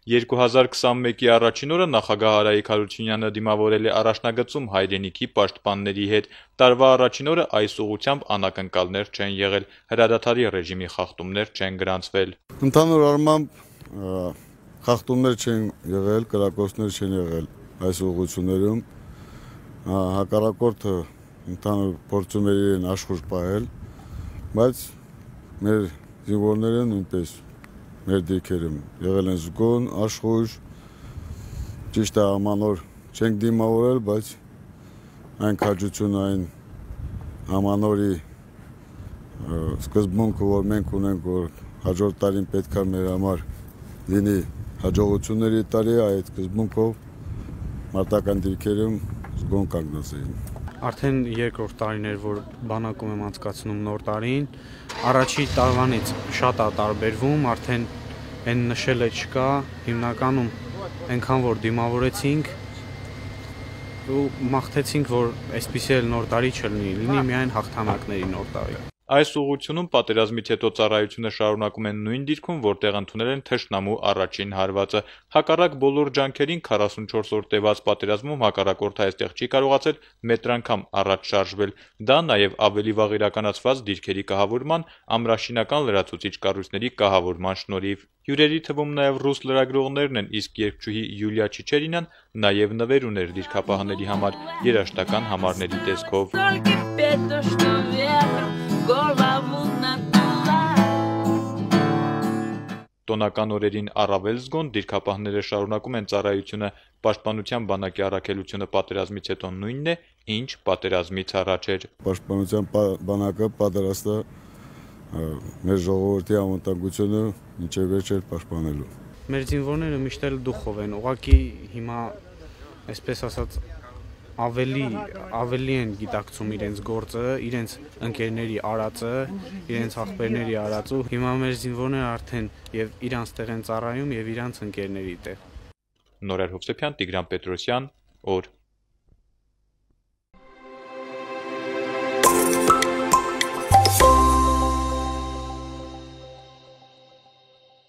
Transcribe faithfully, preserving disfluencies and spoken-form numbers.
երկու հազար քսանմեկի առաջին օրը նախագահ Արայիկ Հարությունյանը դիմավորել է առաջնագծում հայրենիքի պաշտպանների հետ։ Տարվա առաջին օրը այս ուղղությամբ անակնկալներ չեն եղել, հրադադարի ռեժիմի խախտումներ չեն գրանցվել։ Ընդհանուր առմամբ խախտումներ չեն եղել, կրակոցներ չեն եղել այս ուղղություններում, հակառակորդը ընդհանուր փորձում էր իրեն աշխույժ պահել, բայց մեր զինվորները նույնպես մեր դիրքերում եղել են զգոն, աշխույժ, ճիշտ է ամանոր չենք դիմավորել, բայց այն քաջությունը, այն ամանորի սկզբունքը, որ մենք ունենք, որ հաջորդ տարին պետք է մեր համար լինի հաջողությունների տարի, այդ սկզբունքով մարտական դիրքերում զգոն կանգնած էին։ Արդեն երկրորդ տարին էր, որ բանակում եմ անցկացնում նոր տարին, առաջի տարվանից շատ է տարբերվում, արդեն այն նշելը չկա, հիմնականում այնքան որ դիմավորեցինք ու մաղթեցինք, որ այսպիսի էլ նոր տարի չլինի, լինի միայն հաղթանակների նոր տարի։ Այս ուղղությունում պատերազմից հետո ծառայությունը շարունակում են նույն դիրքում, որտեղ ընդունել են թշնամու առաջին հարվածը։ Հակառակ բոլոր ջանքերին քառասունչորս օր տևած պատերազմում հակառակորդը այստեղ չի կարողացել մետրը անգամ առաջ շարժվել։ Դա նաև ավելի վաղ իրականացված դիրքերի կահավորման, ամրաշինական լրացուցիչ կառույցների կահավորման շնորհիվ։ Հյուրերի թվում նաև ռուս լրագրողներն են, իսկ երգչուհի Յուլիա Չիչերինան նաև նվեր ուներ դիրքապահների համար երաժշտական համարների տեսքով։ Տոնական օրերին առավել զգոն դիրքապահները շարունակում են ծառայությունը։ Պաշտպանության բանակի առաքելությունը պատերազմից հետո նույնն է, ինչ պատերազմից առաջ էր։ Պաշտպանության բանակը պատրաստ է մեր ժողովրդի անվտանգությունը մինչև վերջ պաշտպանելու։ Մեր զինվորները միշտ էլ դուխով են, ուղղակի հիմա այսպես ասած ավելի ավելի են գիտակցում իրենց գործը, իրենց ընկերների արածը, իրենց աղբերների արածը։ Հիմա մեր զինվորները արդեն եւ իրանց տեղ են ծառայում եւ իրանց ընկերների տեղ։ Նորայր Հովսեփյան, Տիգրան Պետրոսյան, օր